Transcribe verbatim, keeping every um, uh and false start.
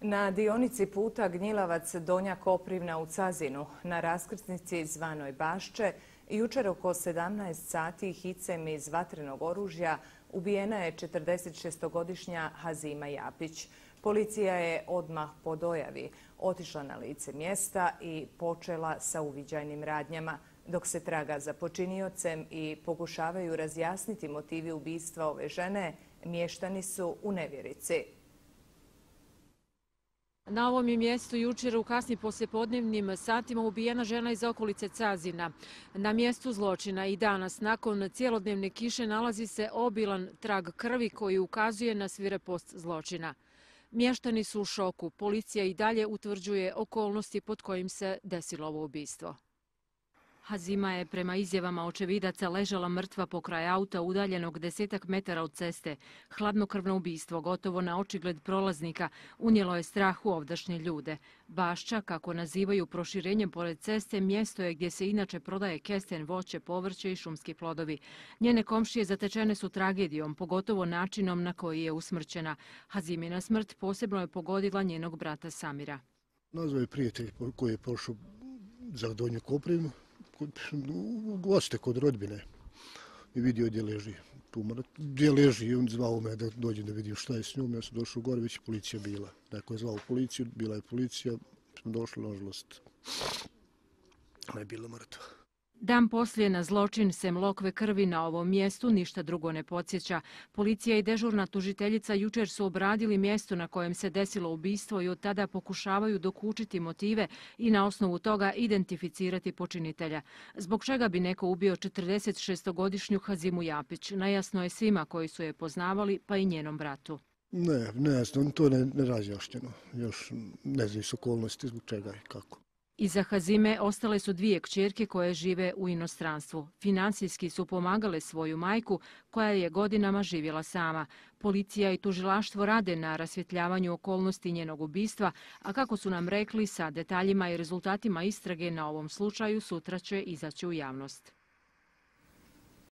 Na dionici puta Gnjilavac-Donja Koprivna u Cazinu, na raskrsnici zvanoj Bašče, jučer oko sedamnaest sati hicem iz vatrenog oružja ubijena je četrdesetšestogodišnja Hazima Japić. Policija je odmah po dojavi otišla na lice mjesta i počela sa uviđajnim radnjama, dok se traga za počiniocem i pokušavaju razjasniti motivi ubistva ove žene, mještani su u nevjerici. Na ovom je mjestu jučer u kasnim poslijepodnevnim satima ubijena žena iz okolice Cazina. Na mjestu zločina i danas, nakon cjelodnevne kiše, nalazi se obilan trag krvi koji ukazuje na svirepost zločina. Mještani su u šoku. Policija i dalje utvrđuje okolnosti pod kojim se desilo ovo ubistvo. Hazima je prema izjavama očevidaca ležala mrtva pokraj auta udaljenog desetak metara od ceste. Hladnokrvno ubistvo, gotovo na očigled prolaznika, unijelo je strah u ovdašnje ljude. Bašča, kako nazivaju proširenjem pored ceste, mjesto je gdje se inače prodaje kesten, voće, povrće i šumski plodovi. Njene komšije zatečene su tragedijom, pogotovo načinom na koji je usmrćena. Hazimina smrt posebno je pogodila njenog brata Samira. Nazvao je prijatelj koji je pošao za Donju Koprivnu, u goste kod rodbine i vidio gdje leži. Gdje leži i on zvao me da dođem da vidim šta je s njom. Ja sam došao gore, već je policija bila. Neko je zvao policiju, bila je policija, smo došli, nažalost, ona je bila mrtva. Dan poslije na zločin sem lokve krvi na ovom mjestu ništa drugo ne podsjeća. Policija i dežurna tužiteljica jučer su obradili mjesto na kojem se desilo ubistvo i od tada pokušavaju dokučiti motive i na osnovu toga identificirati počinitelja. Zbog čega bi neko ubio četrdesetšestogodišnju Hazimu Japić? Nejasno je svima koji su je poznavali, pa i njenom bratu. Ne, nejasno, to je nerazjašnjeno. Još ne znaju s okolnosti zbog čega i kako. Iza Hazime ostale su dvije kćerke koje žive u inostranstvu. Financijski su pomagale svoju majku koja je godinama živjela sama. Policija i tužilaštvo rade na rasvjetljavanju okolnosti njenog ubistva, a kako su nam rekli, sa detaljima i rezultatima istrage na ovom slučaju sutra će izaći u javnost.